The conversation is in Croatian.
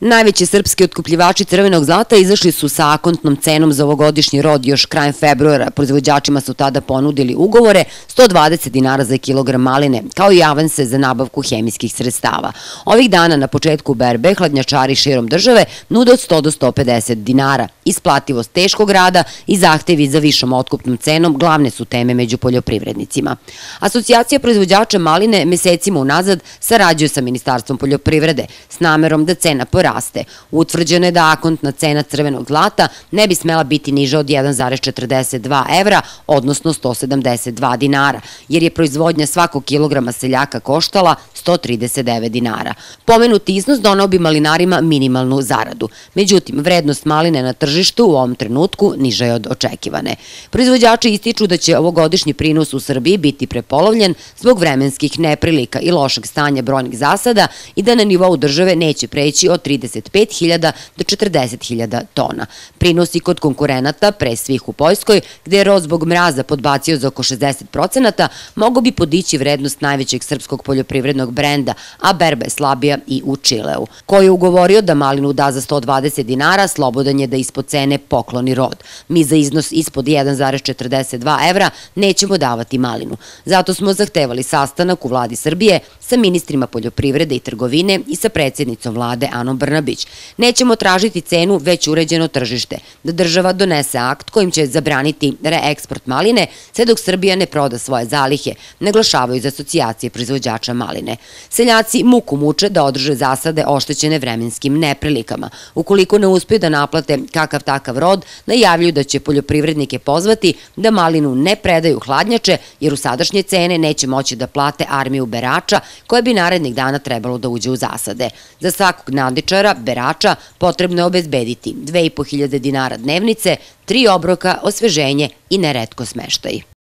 Najveći srpski otkupljivači crvenog zlata izašli su sa akontnom cenom za ovogodišnji rod još krajem februara. Proizvođačima su tada ponudili ugovore 120 dinara za kilogram maline, kao i avanse za nabavku hemijskih sredstava. Ovih dana na početku berbe hladnjačari širom države nude od 100 do 150 dinara. Isplativost teškog rada i zahtevi za višom otkupnom cenom glavne su teme među poljoprivrednicima. Asocijacija proizvođača maline mesecima unazad sarađuje sa Ministarstvom poljoprivrede s namerom da cena poraste. Utvrđeno je da akontna cena crvenog zlata ne bi smela biti niža od 1,42 evra, odnosno 172 dinara, jer je proizvodnja svakog kilograma seljaka koštala 139 dinara. Pomenuti iznos doneo bi malinarima minimalnu zaradu. Međutim, vrednost maline na tržištu u ovom trenutku niža je od očekivane. Proizvođači ističu da će ovogodišnji prinos u Srbiji biti prepolovljen zbog vremenskih neprilika i lošeg stanja brojnih zasada i da na nivou države neće preći od 35.000 do 40.000 tona. Prinosi kod konkurenata, pre svih u Poljskoj, gde je rod zbog mraza podbacio za oko 60%, mogo bi podići vrednost najvećeg srpskog poljoprivrednog brenda, a berba je slabija i u Čileu. Ko je ugovorio da malinu da za 120 dinara, slobodan je da ispod cene pokloni rod. Mi za iznos ispod 1,42 evra nećemo davati malinu. Zato smo zahtevali sastanak u vladi Srbije sa ministrima poljoprivrede i trgovine i sa predsjednicom vlade Anom Brnabić. Nećemo tražiti cenu već uređeno tržište, da država donese akt kojim će zabraniti reeksport maline sve dok Srbija ne proda svoje zalihe, naglašavaju iz asocijacije proizvođača maline. Seljaci muku muče da održe zasade oštećene vremenskim neprilikama. Ukoliko ne uspeju da naplate kakav takav rod, najavljuju da će poljoprivrednike pozvati da malinu ne predaju hladnjače, jer u sadašnje cene neće moći da plate armiju berača koja bi narednih dana trebalo da uđe u zasade. Za svakog nadničara, berača, potrebno je obezbediti 2.500 dinara dnevnice, 3 obroka, osveženje i neretko smeštaj.